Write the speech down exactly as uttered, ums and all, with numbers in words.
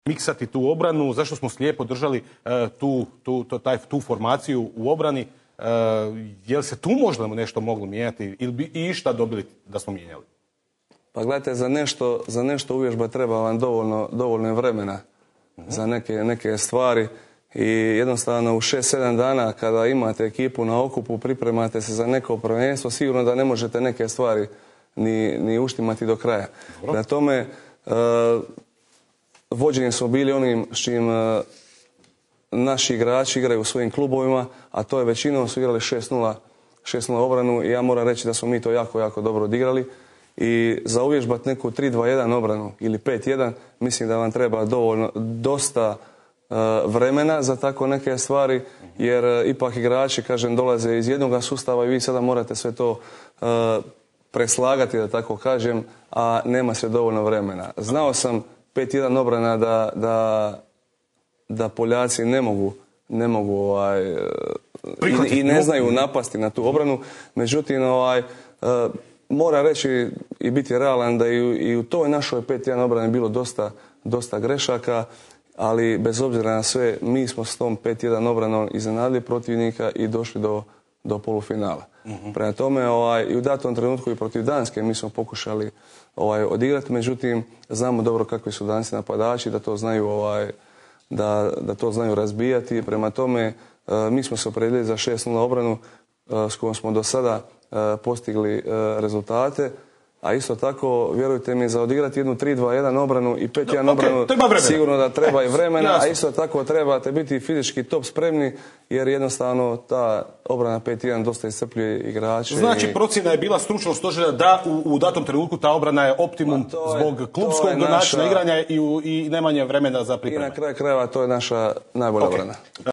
miksati tu obranu, zašto smo slijepo držali uh, tu, tu, to, taj, tu formaciju u obrani. Uh, je li se tu možda nešto moglo mijenjati ili bi i išta dobili da smo mijenjali? Pa gledajte, za nešto, za nešto uvježba treba vam dovoljno, dovoljno vremena uh-huh. za neke, neke stvari i jednostavno u šest sedam dana kada imate ekipu na okupu, pripremate se za neko prvenstvo, sigurno da ne možete neke stvari ni, ni uštimati do kraja. Na tome uh, vođeni smo bili onim s čim uh, naši igrači igraju u svojim klubovima, a to je većinom su igrali šest nula obranu i ja moram reći da smo mi to jako, jako dobro odigrali. I za uvježbati neku tri dva jedan obranu ili pet jedan, mislim da vam treba dovoljno, dosta uh, vremena za tako neke stvari, jer uh, ipak igrači, kažem, dolaze iz jednog sustava i vi sada morate sve to uh, preslagati, da tako kažem, a nema se dovoljno vremena. Znao sam pet jedan obrana da, da, da Poljaci ne mogu, ne mogu ovaj, i, i ne znaju napasti na tu obranu, međutim, ovaj, uh, mora reći i biti realan da i u, i u toj našoj pet jedan obrani bilo dosta, dosta grešaka, ali bez obzira na sve, mi smo s tom pet jedan obranom iznenadili protivnika i došli do, do polufinala. Uh-huh. Prema tome, ovaj, i u datom trenutku i protiv Danske mi smo pokušali ovaj, odigrati, međutim, znamo dobro kakvi su Danci napadači, da to znaju, ovaj, da, da to znaju razbijati. Prema tome, uh, mi smo se opredijelili za šest nula obranu uh, s kojom smo do sada postigli rezultate, a isto tako, vjerujte mi, za odigrati jednu tri dva jedan obranu i pet jedan obranu, okay, sigurno da treba i vremena, a isto tako trebate biti fizički top spremni, jer jednostavno ta obrana pet jedan dosta iscrpljuje igrače. Znači, i... procjena je bila stručnog stožera da u, u datom trenutku ta obrana je optimum je, zbog klubskog načina naša... igranja i, u, i nemanje vremena za pripreme. I na kraju krajeva to je naša najbolja okay. obrana.